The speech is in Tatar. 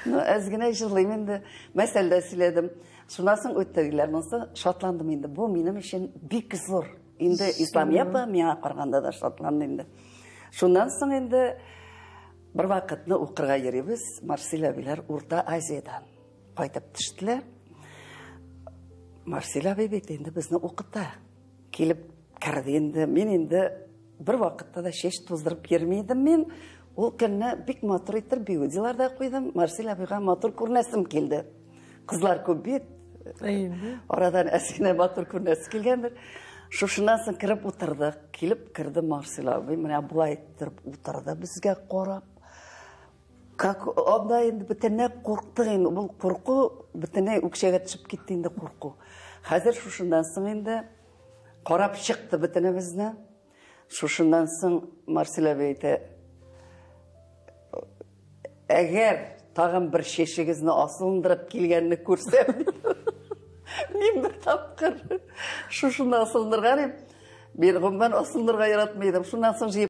Ну, әз генә җырлыйм инде. Мәсәл дә сөйләдем. Шуннан соң үттеләр. Монысы шатландым инде. Бу минем өчен бик зур. Инде Исламия апа миңа караганда да шатланды инде. Шуннан соң инде бер вакытны укырга йөрибез. Марсель абиләр Урта Азиядән кайтып төштеләр. Марсель абый бит инде безне укыта. Килеп керде инде. Мин инде бер вакытта да чәч туздырып йөрми идем мин. Ул көнне бик матур итеп бигудилар да куйдым. Марсель абыйга матур күренәсем килде. Кызлар күп бит. Арадан әсенә матур күренәсе килгәндер. Шушыннан соң кереп утырдык. Килеп керде Марсель абый. Менә болай иттереп утырды безгә карап. Как анда инде бөтенләй курктык инде. Бу курку бөтенләй үкчәгә төшеп китте инде курку. Хәзер шушыннан соң инде карап чыкты бөтенебезне. Шушыннан соң Марсель абый әйтә, әгәр тагын бер чәчегезне асылындырып килгәнне күрсәм, мин бер тапкыр шушыны асылындырган идем. Мин гомумән асылындырырга яратмый идем. Шуннан соң җыеп